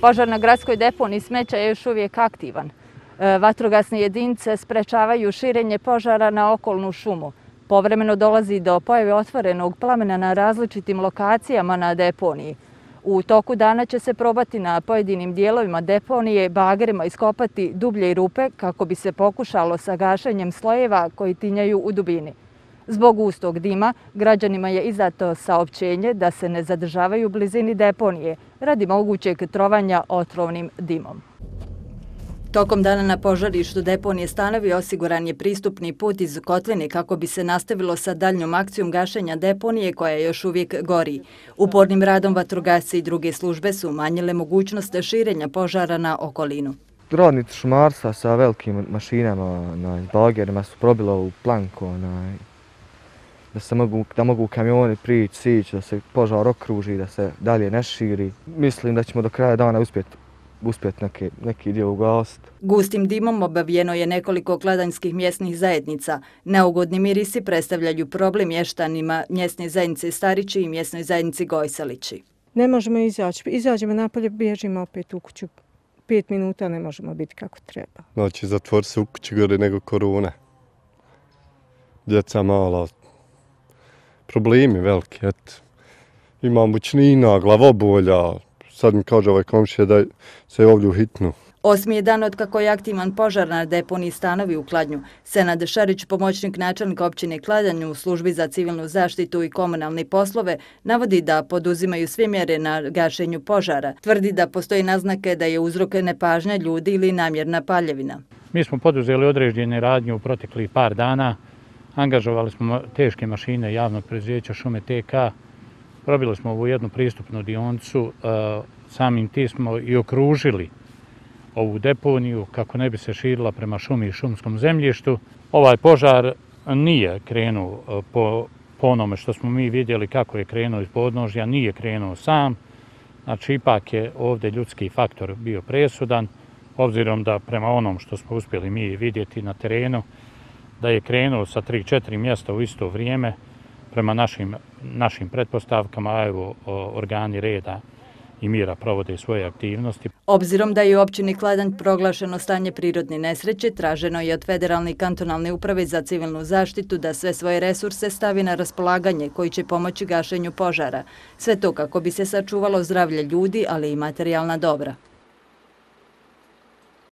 Požar na gradskoj deponiji smeća je još uvijek aktivan. Vatrogasne jedinice sprečavaju širenje požara na okolnu šumu. Povremeno dolazi do pojave otvorenog plamena na različitim lokacijama na deponiji. U toku dana će se probati na pojedinim dijelovima deponije bagerima iskopati dublje rupe kako bi se pokušalo sa gašenjem slojeva koji tinjaju u dubini. Zbog gustog dima, građanima je izdato saopćenje da se ne zadržavaju u blizini deponije radi mogućeg trovanja otrovnim dimom. Tokom dana na požarištu deponije Stanovi osiguran je pristupni put iz kotline kako bi se nastavilo sa daljnjom akcijom gašenja deponije koja još uvijek gori. Upornim radom vatrogasci i druge službe su umanjile mogućnost širenja požara na okolinu. Radnici šumarstva sa velikim mašinama, bagerima su probili ovu planku, da mogu kamioni prići, sići, da se požar okruži, da se dalje ne širi. Mislim da ćemo do kraja dana uspjeti neki dio ugasiti. Gustim dimom obavijeno je nekoliko kladanjskih mjesnih zajednica. Neugodni mirisi predstavljaju problem mještanima mjesne zajednice Starići i mjesnoj zajednici Gojsalići. Ne možemo izaći. Izađemo napolje, bježimo opet u kuću. 5 minuta ne možemo biti kako treba. Znači, zatvor se u kući gore nego korona. Djeca mala. Problemi veliki, eto. Ima mučnina, glavobolja. Sad mi kaže ovaj komšija da se ovdje u hitnu. 8. je dan otkako je aktivan požar na deponiji Stanovi u Kladnju. Senad Šarić, pomoćnik načelnika općine Kladanj u službi za civilnu zaštitu i komunalne poslove, navodi da poduzimaju sve mjere na gašenju požara. Tvrdi da postoji naznake da je uzrok nepažnja ljudi ili namjerna paljevina. Mi smo poduzeli određene radnje u proteklih par dana. Angažovali smo teške mašine javnog preduzeća Šume TK. Probili smo ovu jednu pristupnu dionicu, samim tim smo i okružili ovu deponiju kako ne bi se širila prema šumi i šumskom zemljištu. Ovaj požar nije krenuo po onome što smo mi vidjeli kako je krenuo iz podnožja, nije krenuo sam. Znači, ipak je ovdje ljudski faktor bio presudan, obzirom da prema onom što smo uspjeli mi vidjeti na terenu, da je krenuo sa 3-4 mjesta u isto vrijeme. Prema našim pretpostavkama, a evo, organi reda i mira provode svoje aktivnosti. Obzirom da je u općini Kladanj proglašeno stanje prirodne nesreće, traženo je od Federalne i kantonalne uprave za civilnu zaštitu da sve svoje resurse stavi na raspolaganje koji će pomoći gašenju požara. Sve to kako bi se sačuvalo zdravlje ljudi, ali i materijalna dobra.